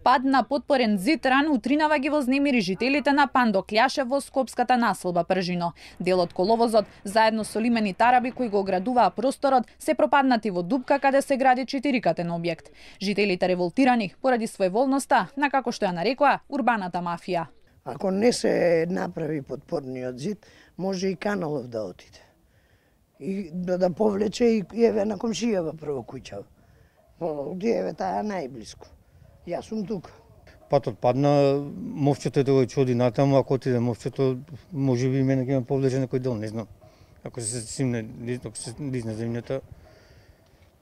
Пад на потпорен зид рано утринава ги вознемири жителите на Пандокљаше во скопската населба Пржино. Дел од коловозот, заедно со лимени тараби кои го оградуваа просторот, се пропаднати во дупка каде се гради 4-катен објект. Жителите револтирани поради своеволноста на, како што ја нарекоа, урбаната мафија. Ако не се направи потпорниот зид, може и каналов да отиде. И да повлече и еве на комшијава прво куќава. Еве таа најблиску. Јас сум тука. Патот падна, мовчето да го чуди натаму, ако отиде мовчето, може би мене ќе ме повлече некој дел, не знам. Ако се симне, ако се лизне земјата,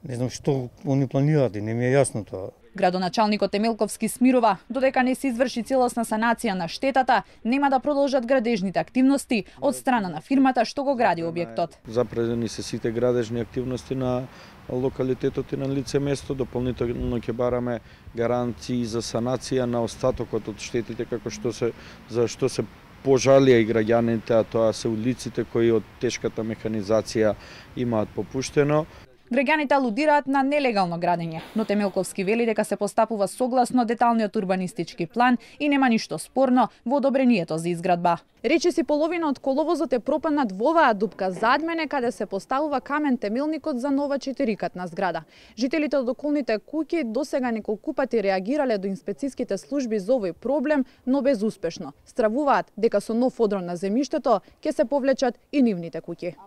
не знам што они планираат и не ми е јасно тоа. Градоначалникот Емелковски смирува, додека не се изврши целосна санација на штетата, нема да продолжат градежните активности од страна на фирмата што го гради објектот. Запредени се сите градежни активности на локалитетот и на лице место, дополнително ќе бараме гаранции за санација на остатокот од штетите како што се пожалија и граѓаните, а тоа се улиците кои од тешката механизација имаат попуштено. Граѓаните алудираат на нелегално градење, но Темелковски вели дека се постапува согласно деталниот урбанистички план и нема ништо спорно во одобрението за изградба. Речиси половина од коловозот е пропаднат во оваа дупка зад мене каде се поставува камен темелникот за нова 4-катна зграда. Жителите од околните куќи досега неколку пати реагирале до инспециските служби за овој проблем, но безуспешно. Стравуваат дека со нов одрон на земјиштето ќе се повлечат и нивните куќи.